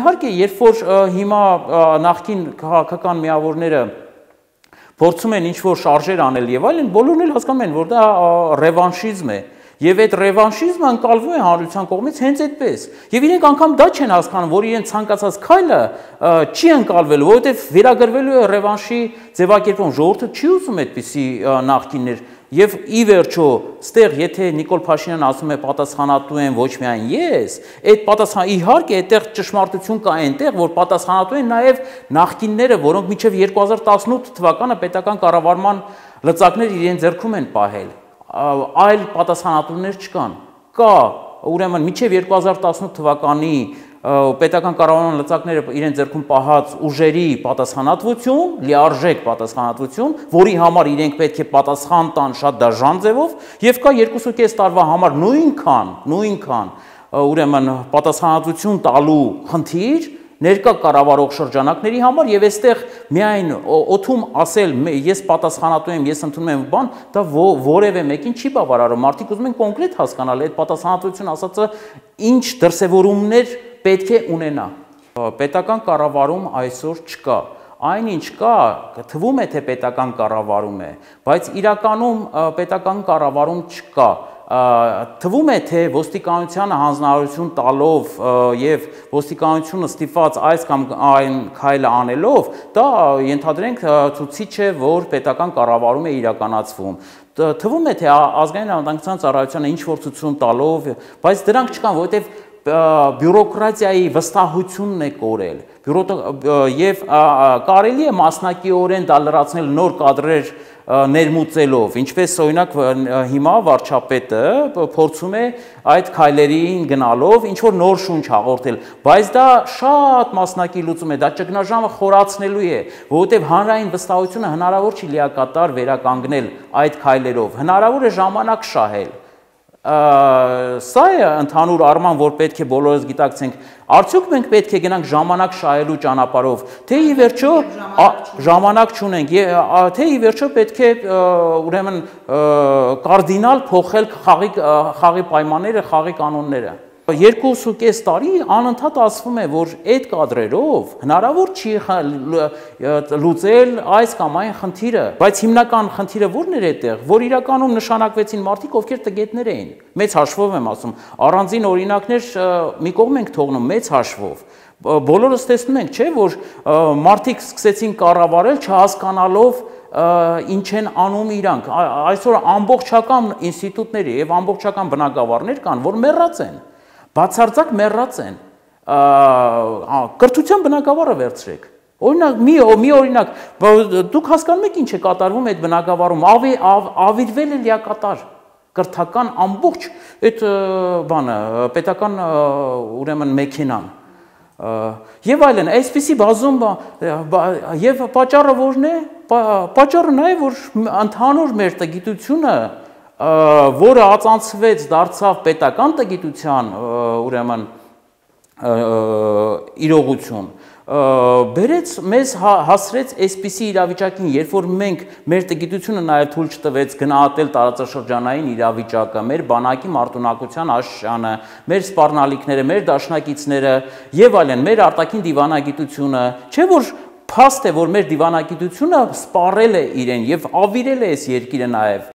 իհարկե, երբ որ հիմա նախկին քաղաքական միավորները փորձում են ինչ-որ շարժեր անել եւ այլն, բոլորն էլ հասկանում են, որ դա ռևանշիզմ է։ Եվ այդ ռևանշիզմը ընկալվում է հանրության կողմից հենց այդպես։ Եվ իրենք անգամ դա չեն հասկանում, որ իրենց ցանկացած քայլը չի ընկալվելու, որովհետև վերագրվելու է ռևանշի ձևակերպում։ Ժողովուրդը չի ուզում այդպիսի նախկիններ։ Եվ ի վերջո, ստեղ եթե Նիկոլ Փաշինյանն ասում է պատասխանատու են ոչ միայն ես, այդ պատասխան իհարկե այդտեղ ճշմարտություն կա այնտեղ, որ պատասխանատու են նաև նախկինները, որոնք մինչև 2018 թվականը պետական կառավարման լծակներ իրեն ձեռքում են պահել։ Այլ պատասխանատուներ չկան։ Կա, ուրեմն մինչև 2018 թվականի պետական կառավարման լծակները իրեն ձեռքում պահած ուժերի պատասխանատվություն, լիարժեք պատասխանատվություն, որի համար իրենք պետք է պատասխան տան շատ դաժան ձևով, եւ կա 2.5 տարվա համար նույնքան ուրեմն պատասխանատվություն տալու խնդիր ներկա կառավարող շրջանակների համար եւ այստեղ միայն օթում ասել ես պատասխանատու եմ, ես ընդունում եմ բան, դա որևէ մեկին չի բավարարում։ Մարդիկ ուզում են կոնկրետ հասկանալ այդ պատասխանատվություն ասածը ինչ դրսևորումներ պետք է ունենա։ Պետական կառավարում այսօր չկա։ Այնինչ կա, թվում է թե պետական կառավարում է, բայց իրականում պետական կառավարում չկա։ Թվում է թե ոստիկանությանը հանձնարարություն տալով եւ ոստիկանությունը ստիպված այս կամ այն քայլը անելով, դա ենթադրենք ցուցիչ է, որ պետական կառավարում է իրականացվում։ Թվում է թե ազգային անվտանգության ծառայությանը ինչ որ ցուցում տալով, բայց դրանք չկան, որովհետեւ բյուրոկրատիայի վստահությունն է կորել։ Եվ կարելի է մասնակիորեն դա լրացնել նոր կադրեր ներմուծելով, ինչպես օրինակ հիմա վարչապետը փորձում է այդ քայլերին գնալով ինչ որ նոր շունչ հաղորդել, բայց դա շատ մասնակի լուծում է, դա ճգնաժամը խորացնելու է, որովհետև հանրային վստահությունը հնարավոր չի լիակատար վերականգնել այդ քայլերով, հնարավոր է ժամանակ շահել։ Սա է ընդհանուր առման, որ պետք է բոլորս գիտակցենք, արդյոք մենք պետք է գնանք ժամանակ շահելու ճանապարհով, թե ի վերջո ժամանակ չունենք, թե ի վերջո պետք է ուրեմն կարդինալ փոխել խաղի պայմանները, խաղի կանոնները։ 2.5 տարի անընդհատ ասվում է, որ այդ կադրերով հնարավոր չի լուծել այս կամ այն խնդիրը, բայց հիմնական խնդիրը ո՞րն էր այդտեղ, որ իրականում նշանակվեցին մարդիկ, ովքեր տգետներ էին, մեծ հաշվով եմ ասում, առանձին օրինակներ մի կողմ ենք թողնում, մեծ հաշվով, բոլորս տեսնում ենք, չէ, որ մարդիկ սկսեցին կառավարել չհասկանալով ինչ են անում իրանք, այսօր ամբողջական ինստիտուտների եւ ամբողջական բնագավառներ կան, որ մեռած են, բացարձակ մեռած են, կրթության բնագավառը վերցրեք, օրինակ, մի օրինակ, դուք հասկանում եք ինչ է կատարվում այդ բնագավառում, ավիրվել է լիակատար, կրթական ամբողջ այդ բանը, պետական ուրեմն մեքենան, եւ այլն, այսպիսի բազում, եւ պատճառը որն է, պատճառը նա է, որ ընդհանուր մեր տգիտությունը, որը ածանցվեց դարձավ պետական տգիտության ուրեմն իրողություն, բերեց մեզ հասրեց այսպիսի իրավիճակին, երբ որ մենք մեր տգիտությունը նաև թույլ չտվեց գնահատել տարածաշրջանային իրավիճակը, մեր բանակի մարտունակության աշճանը, մեր սպառնալիքները, մեր դաշնակիցները եւ այլն, մեր արտաքին դիվանագիտությունը, չէ՞ որ փաստ է, որ մեր դիվանագիտությունը սպառել է իրեն եւ ավիրել է այս երկիրը նաև